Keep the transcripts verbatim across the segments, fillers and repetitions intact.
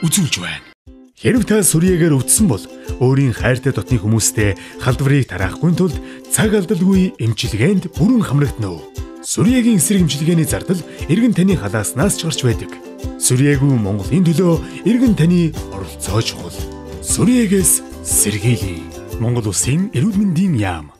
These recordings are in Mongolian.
үзүүлж байна. Хэрв та сүрьегээр үтсэн бол өөрийн хайртай дотны хүмүүстэй халдварыг тараахгүй тулд цаг алдалгүй эмчилгээнд бүрэн хамрагдана уу? Сүрьегийн эсрэг эмчилгээний зардал эргэн таны халааснаас ч гарч байдаг. Сүрьегүй Монголын төлөө эргэн таны оролцоо чухал. Сүрьегээс сэргийлье. Монгол Улсын эрүүл мэндийн яам.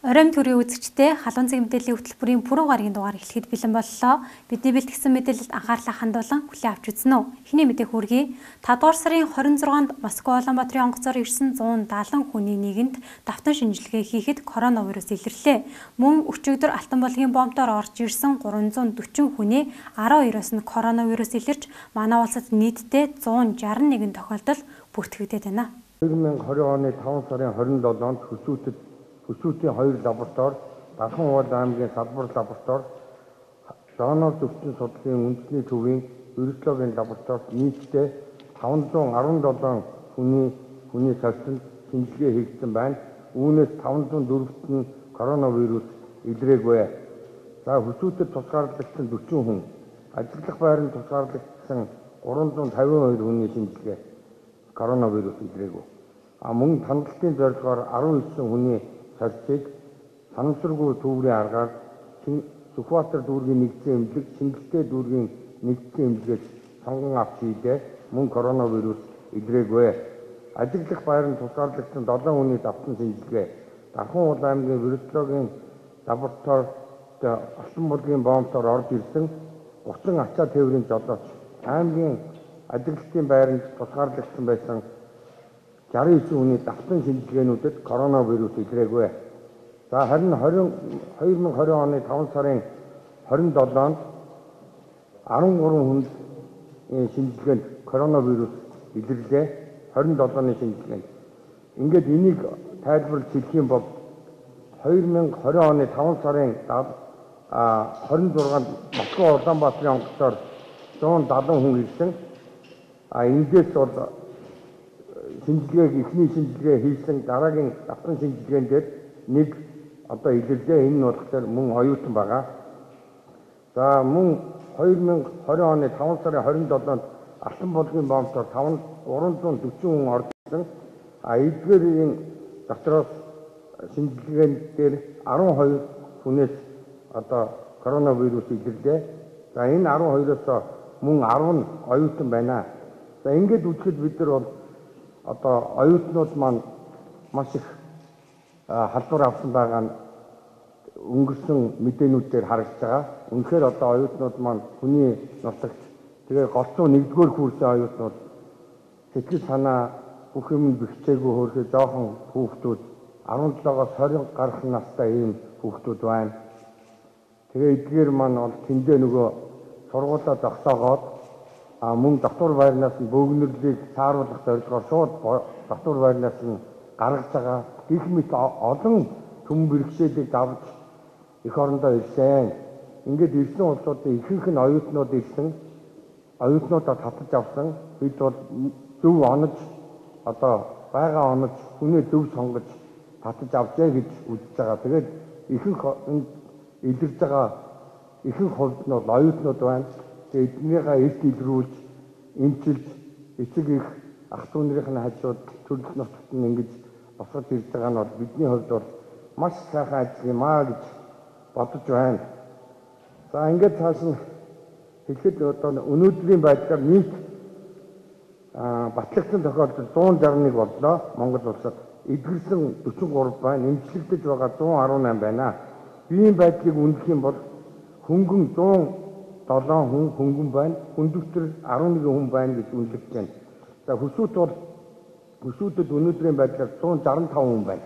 Оройн төрийн үзэгчтэй халуун цэг мэдээллийн хөтөлбөрийн пүрэв гарагийн дугаар эхлэхэд бэлэн боллоо. Бидний бэлтгэсэн мэдээлэлд анхаарлаа хандуулан хүлээн авч үзнэ үү. Эхний мэдээ хүргэе. тавдугаар сарын хорин зургаанд Москва Улаанбаатарын онгоцоор ирсэн зуун даалан хүний нийгэмд давтан шинжилгээ хийхэд коронавирус илэрлээ. Мөн өчигдөр Алтан булгийн бомбоор орж ирсэн гурван зуун дөрвөн хүний арван хоёроос нь коронавирус илэрч манай улсад нийтдээ зуун шарвал нэгэн тохиолдол бүртгэгдээд байна. две тысячи двадцать оны таван сарын хорин долоонд хөсөөтөд Хөсөөтийн хоёр лаборатори, Дархан уул аймгийн салбар лаборатори, зооноос өвчин судлалын үндэсний төвийн вирусологийн лабораторид нийтдээ таванзуун арван долоо хүний хүний савцанд шинжилгээ хийгдсэн байна. Үүнээс таванзуун дөрөвт нь коронавирус илрээгүй. За хөсөөтөд тусгаарлагдсан дөрвөн хүн, ажиллах байранд тусгаарлагдсан гурван зуун тавин хоёр хүний шинжилгээ коронавирус илрээгүй. А мөн хандлтын зорилгоор арван девять хүний сарцыг санамсаргүй төврийн аргаар Сүхбаатар дүүргийн нэгдсэн эмнэлэг, Шингэлтэй дүүргийн нэгдсэн эмнэлгээс сонгон авч хийлээ. Мөн коронавирус илрээгүй. Ажиллах байранд тусгаарлагдсан долоо хүний давтан шинжилгээ Дархан уул аймгийн вирусологийн лабораторид Алтан булгийн бомбоор орж ирсэн гучин ачаа тээврийн жолооч аймгийн ажиллалтын байранд тусгаарлагдсан байсан шарвал девять хүний давтан шинжилгээнүүдэд коронавирус илрээгүй. За харин две тысячи двадцать оны таван сарын хорин долоонд арван гурван хүнд шинжилгээнд коронавирус илэрлээ. хорин долооны шинжилгээнд. Ингээд энийг тайлбарлаж хэлэх юм бол две тысячи двадцать оны таван сарын хорин зургаанд Москва Улаанбаатарын онгоцоор зуун даалан хүн ирсэн. А эндээс бол шинжилгээг эхний шинжилгээ хийсэн дараагийн давтан шинжилгээнд дээр нэг одоо илэрлээ. Энэ нь болохоор мөн оюутан байгаа. За мөн две тысячи двадцать оны таван сарын хорин долоонд Алтан булгийн бомбоор гурван зуун дөрвөн хүн орж ирсэн. А эдгээрийн дотроос шинжилгээнд дээр арван хоёр хүнээс одоо коронавирус илэрлээ. За энэ арван хоёроос мөн арван нь оюутан байна. За ингээд үзэхэд бид нар бол одоо оюутнууд маань маш их халдвар авсан байгаа нь өнгөрсөн мэдээнүүдээр харагдаж байгаа. Үнэхээр одоо оюутнууд маань хүний нутагт тэгээ голцоо нэгдүгээр курсын оюутнууд сэтгэл санаа бүх юм бэхжээгүй хөөрхөө жоохон хүүхдүүд арван жилээс хорин гарах настай ийм хүүхдүүд байна. Тэгээ эдгээр маань бол тэндээ нөгөө сургуулаа зогсоогоод а мөн давтвар байрнаас нь бөөгнөрлийг сааруулах зорилгоор шууд давтвар байрнаас нь гаргаж байгаа их мэт олон төм бэрхшээлийг давж эх орондоо ирсэн. Ингээд ирсэн улсуудын ихэнх нь оюутнууд ирсэн. Оюутнуудаа татаж авсан. Бид бол зөв онож одоо байгаа онож хүнээ зөв сонгож татаж авчээ гэж үзэж байгаа. Тэгээд ихэнх илэрж байгаа ихэнх хувьд нь бол оюутнууд байна. Эднийхээ эрт илрүүлж, эмчилж, эцэг их ах дүү нарын хажууд төрөлх нутагт нь ингэж босгож ирж байгаа нь бол бидний хувьд бол маш сайхан ажил юм аа гэж бодож байна. За ингээд цааш нь хэлэхэд одоо өнөөдрийн байдлаар нийт батлагдсан тохиолдол зуун шарвал нэг боллоо. Монгол улсад эдгэрсэн дөрвөн гурав байна. Эмчлэгдэж байгаа зуун арван осем байна. Биеийн байдлыг үнэлэх юм бол хөнгөн зуун долоо хүн хөнгөн байна. Хүндөвтөр арван нэг хүн байна гэж үнэлж байна. За хөсөөт бол хөсөөдөд өнөөдрийн байдлаар зуун шарвал таван хүн байна.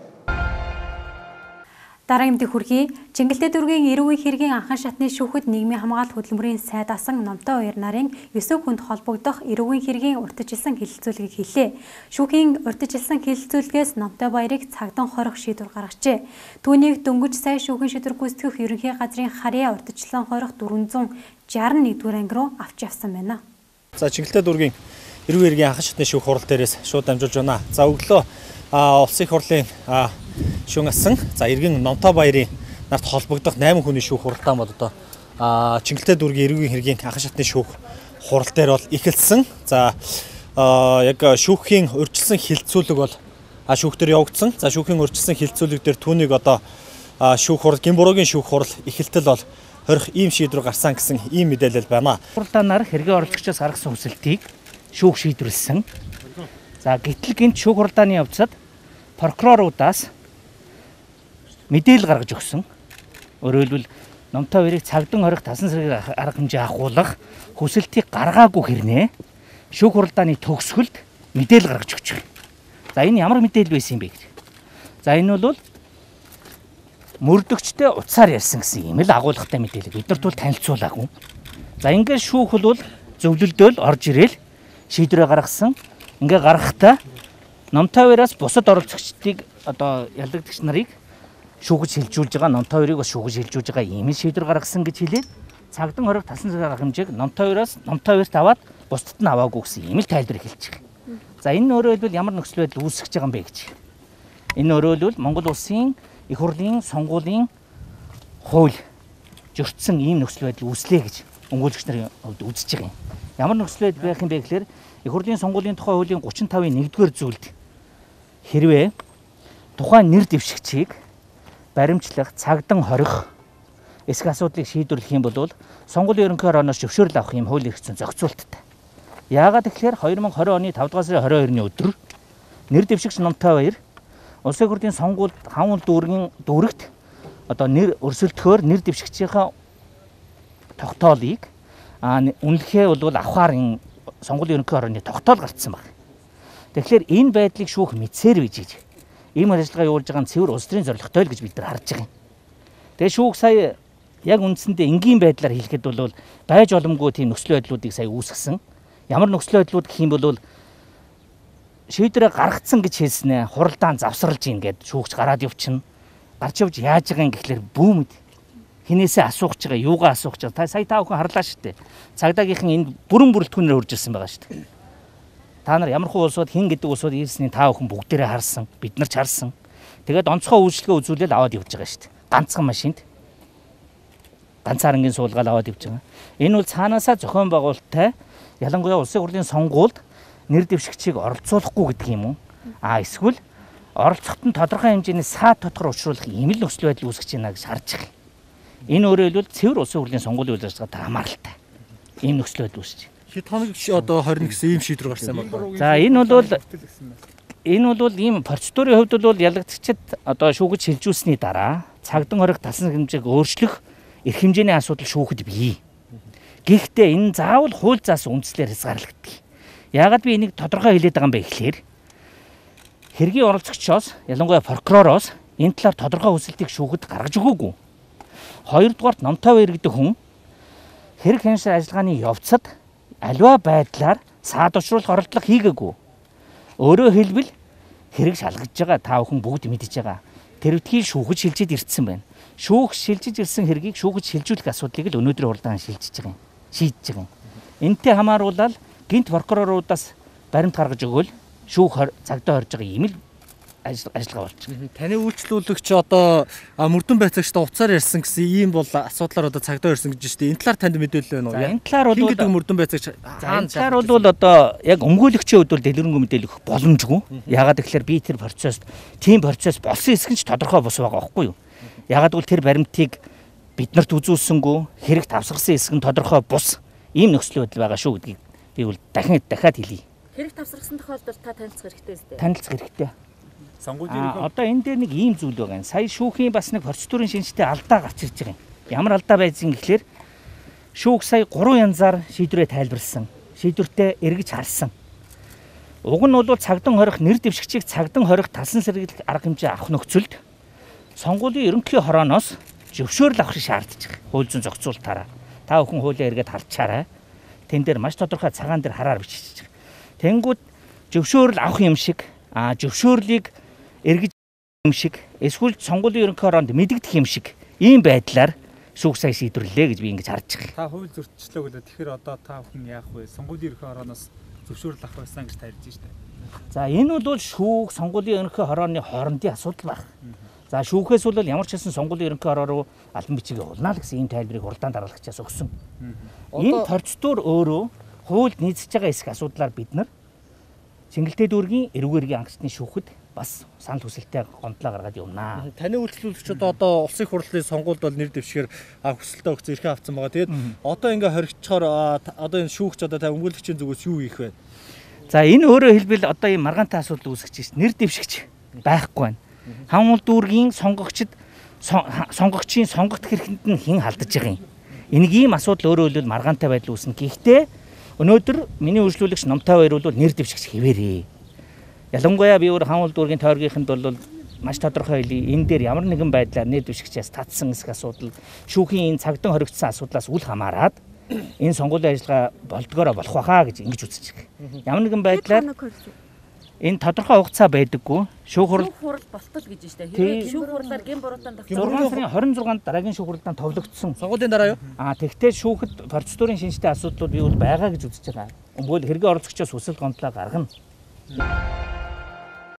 Дараагийн мэдээ хүргэе. Чингэлтэй дүүргийн эрүүгийн хэргийн анхан шатны шүүхэд нийгмийн хамгаалалт хөдөлмөрийн сайд асан номтой хоёр нарын девять хүнд холбогдох эрүүгийн хэргийн урьдчилсан хэлэлцүүлгийг хийлээ. Шүүхийн урьдчилсан хэлэлцүүлгээс номтой баярыг цагдан хорих шийдвэр гаргажээ. Түүнийг дөнгөж сая шүүхийн шийдвэр гүйцэтгэх ерөнхий газрын харьяа урьдчилсан хорих дөрвөнзөн шарвал нэгдүгээр анги руу авч явсан байна. За Чингэлтэй дүүргийн эрүүгийн хэргийн анхан шатны шүүх хурал дээрээс шууд дамжуулж байна. За өглөө улсын их хурлын шүүн асан за иргэн номтой баярын нарт холбогдох восемь хүний шүүх хуралдаан бол одоо Чингэлтэй дүүргийн эрүүгийн хэргийн анхан шатны шүүх хурал дээр бол эхэлсэн. За яг шүүхийн урьдчилсан хилцүүлэг бол шүүх дээр явагдсан. За шүүхийн урьдчилсан хилцүүлэг дээр түүнийг одоо шүүх хурал Гинбуруугийн шүүх хурал эхэлтэл бол хорих ийм шийдвэр гарсан гэсэн ийм мэдээлэл байна. Хуралдаанаар хэргийн орлогчоос гаргасан хүсэлтийг шүүх шийдвэрлсэн. За гэтэл гинт шүүх хуралдааны явцад прокуроруудаас мэдээлэл гаргаж өгсөн. Өөрөөр хэлбэл номтой хоёрыг цагдсан хорих тасан сэргийг арга хэмжээ ахуулах хүсэлтийг гаргаагүй хэрнээ шүүх хуралдааны төгсгөлд мэдээлэл гаргаж өгч байна. За энэ ямар мэдээлэл байсан юм бэ гэж. За энэ бол мөрдөгчтэй утсаар ярьсан гэсэн юм л агуулгатай мэдээлэл. Бид нарт бол танилцуулаагүй. За ингээд шүүх бол зөвлөлдөөл орж ирээл шийдвэрээ гаргасан. Ингээ гаргахтаа номтой хоёроос бусад оролцогчдыг одоо ялдагдагч нарыг шүүгэж шилжүүлж байгаа, номтой хоёрыг бас шүүгэж шилжүүлж байгаа ийм шийдвэр гаргасан гэж хэлээд цагдсан хориг тасан сэргийг арга хэмжээг номтой хоёроос номтой хоёрт аваад бусдад нь аваагүй гэсэн ийм л тайлбар хэлж байгаа. За энэ өөрөөр хэлбэл ямар нөхцөл байдал үүсэж байгаа юм бэ гэж. Энэ өөрөөр хэлбэл Монгол улсын их хурлын сонгуулийн хууль зөрчсөн ийм нөхцөл байдал үүслэе гэж өмгөөлөгч нарын хувьд үзэж байгаа юм. Ямар нөхцөл байдал байх юм бэ гэхээр их хурлын сонгуулийн тухай хуулийн гучин тавын нэгдүгээр зүйлд хэрвээ тухайн нэр дэвшигчийг баримтлах, цагдсан хорих эсэх асуудлыг шийдвэрлэх юм бол сонгуулийн ерөнхий орооноос зөвшөөрөл авах юм хууль эрх зүйн зохицуулттай. Яагаад тэгэхээр две тысячи двадцать оны тавдугаар сарын двадцать хоёрны өдөр нэр дэвшигч номтой баяр улсын хурлын сонгуульд хавн дүүргийн дүүрэгт одоо нэр өрсөлдөхөөр нэр дэвшигчийнхаа тогтоолыг а үнэлэхээ бол авахаар энэ сонгуулийн ерөнхий орооны тогтоол гарцсан баг. Тэгэхээр энэ байдлыг шүүх мэдсээр бийж гэж ийм ажиллагаа явуулж байгаа нь цэвэр улс төрийн зорилготой л гэж бид нар харж байгаа юм. Тэгээ шүүх сая яг үндсэндээ энгийн байдлаар хэлэхэд бол байж боломгүй тийм нөхцөл байдлуудыг сая үүсгэсэн. Ямар нөхцөл байдлууд гэх юм бол шийдвэрээ гаргацсан гэж хэлснэ. Хуралдаан завсарлаж ийн гэд шүүгч гараад явчихна. Гарч явж яаж байгаа юм гэхлээр бүүмэд хинээсээ асуух гэж байгаа, юугаа асуух гэж байгаа. Та сая та бүхэн харлаа шүү дээ. Цагдаагийнхан энэ бүрэн бүрэлдэхүүнээр хурж ирсэн байгаа шүү дээ. Та нар ямар хуу улсууд хин гэдэг улсууд ирсний та бүхэн бүгдээрээ харсан, бид нар ч харсан. Тэгээд онцгой үйлчлэгээ үзүүлэл аваад явж байгаа шүү дээ. Ганцхан машинд ганцаарнгийн суулгаал аваад явж байгаа. Энэ бол цаанаасаа зохион байгуулалттай ялангуяа улсын хурлын сонгуульд нэр дэвшигчийг оролцуулахгүй гэдэг юм уу? А эсвэл оролцоход нь тодорхой хэмжээний саад тодгор учруулах ийм л нөхцөл байдал үүсгэж байна гэж харж байгаа. Энэ өөрөөр хэлбэл цэвэр улсын хурлын сонгуулийн үйл ажиллагаатай хамааралтай. Ийм нөхцөл байдал үүсэж байна. Хэд хоног одоо хорин гэсэн ийм шийдвэр гарсан юм байна. За энэ бол энэ бол ийм процедурын хувьд бол ялагдагчид одоо шүүгэж шилжүүлсэний дараа цагдсан хориг талсан хэмжээг өөрчлөх эрх хэмжээний асуудал шүүхэд бий. Гэхдээ энэ заавал хууль заасан үндслээр хязгаарлагддаг. Яагаад би энийг тодорхой хэлээд байгаа юм бэ гэхээр хэргийн оролцогчоос ялангуяа прокуророос энэ талаар тодорхой хүсэлтийг шүүхэд гаргаж өгөөгүй. Хоёрдугаарт номтой баяр гэдэг хүн хэрэг хяншил ажиллагааны явцад аливаа байдлаар саад учруулах оролдлого хийгээгүй. Өөрөөр хэлбэл хэрэг шалгаж байгаа та бүхэн бүгд мэдж байгаа. Тэрвтгий шүүхэж шилжиж ирсэн байна. Шүүх шилжиж ирсэн хэргийг шүүхэж шилжүүлэх асуудлыг л өнөөдрийн хуралдаан шилжиж байгаа юм. Шийдэж байгаа юм. Энтэй хамааруулаад гинт прокуроруудаас баримт гаргаж өгөөл шүүх цагдаа хорж байгаа юм л ажиллагаа болчих. Таны үйлчлүүлэгч одоо мөрдөн байцаагчтай уцаар ярьсан гэсэн ийм бол асуудлаар одоо цагдаа ярьсан гэж байна шүү дээ. Энэ талаар танд мэдээлэл байна уу? Энэ талаар бол гэдэг мөрдөн байцаагч хаана талаар бол одоо яг өмгөөлөгчийн хувьд бол дэлгэрэнгүй мэдээлэл өгөх боломжгүй. Ягаад гэвэл би тэр процесс, тийм процесс болсон эсэх нь ч тодорхой бос байгаа байхгүй юу? Ягаад гэвэл тэр баримтыг бид нарт үзүүлсэнгүү хэрэг тавсгарсан эсэх нь тодорхой бус ийм нөхцөл байдал байгаа шүү гэдгийг би бол дахин дахиад хэлье. Хэрэг тавсгарсан тохиолдолд та танилцах хэрэгтэй үстэй. Танилцах хэрэгтэй. Сонгуулийн ерөнхий одоо энэ дээр нэг ийм зүйл байгаа юм. Сая шүүхийн бас нэг процедурын шинжтэй алдаа гарч ирж байгаа юм. Ямар алдаа байсан гэхлээр шүүх сая гурван янзаар шийдвэрээ тайлбарлсан. Шийдвэртээ эргэж харсан. Уг нь бол цагдсан хорих нэр дэвшигчийг цагдсан хорих талсан сэргийлэх арга хэмжээ авах нөхцөлд сонгуулийн ерөнхий хорооноос зөвшөөрөл авах шаардж байгаа. Хууль зүйн зохицуулалтаараа. Та бүхэн хуулиа эргээд харчаарай. Тэн дээр маш тодорхой цагаан дээр хараар бичиж байгаа. Тэнгүүд зөвшөөрөл авах юм шиг а зөвшөөрлийг эргэж юм шиг эсвэл сонгуулийн ерөнхий хороонд мэдэгдэх юм шиг ийм байдлаар шүүх сая шийдвэрлэлээ гэж би ингэж харж байгаа. Та хууль зөрчлөө гэлээ тэгэхээр одоо та бүхэн яах вэ? Сонгуулийн ерөнхий хорооноос зөвшөөрөл авах байсан гэж тарьж штэ. За энэ бол шүүх сонгуулийн ерөнхий хорооны хоорондын асуудал байна. За шүүхээс бол ямар ч хэсэн сонгуулийн ерөнхий хороо руу албан бичиг явуулна л гэсэн ийм тайлбарыг хуралдаан дараалагчаас өгсөн. Энэ процедур өөрөө хуульд нийцэж байгаа эсэх асуудлаар бид нар Цэнгэлтэй дүүргийн эрүүг эргийн ангичны шүүхэд бас санал хүсэлтээ гомдлоо гаргаад явнаа. Таны үйлчлүүлэгчид одоо улсын хурлын сонгуульд бол нэр дэвшгээр хүсэлтээ өгч эрхээ авсан байгаа. Тэгээд одоо ингээ хоригдчоор одоо энэ шүүгч одоо та өмгөөлөгчийн зүгээс юу хийх вэ? За энэ өөрөө хэлбэл одоо ийм маргаантай асуудал үүсгэж байна. Нэр дэвшигч байхгүй байна. Хангул дүүргийн сонгогчд сонгогчийн сонгогдох хэрэгэнд нь хэн халдаж байгаа юм. Энийг ийм асуудал өөрөө хэлбэл маргаантай байдал үүснэ. Гэхдээ өнөөдөр миний үйлчлүүлэгч Номтой баяр бол нэр дэвшигч хэвээрээ. Ялангуяа би өөр хангул дүүргийн тойргийнханд бол маш тодорхой хэлий. Энэ дээр ямар нэгэн байдлаар нэр дэвшигчээс татсан эсэх асуудал, шүүхийн энэ цагдан хоригдсан асуудлаас үл хамааран энэ сонгуулийн ажиллагаа болдгоороо болох байхаа гэж ингэж үзэж байгаа. Ямар нэгэн байдлаар энэ тодорхой хугацаа байдаггүй. Шүүх хурал хурал болтол гэж байна шүү дээ. Шүүх хурлаар гин буруутан тогтсон. зургаан сарын хорин зургаанд дараагийн шүүх хуралдаан товлогдсон. Сонгуулийн дараа юу? Аа тэгтээ шүүхэд процедурын шинжтэй асуудлууд бий бол байгаа гэж үзэж байгаа. Өмгөөл хэрэг оролцогчоос хүсэл гомдлоо гаргана.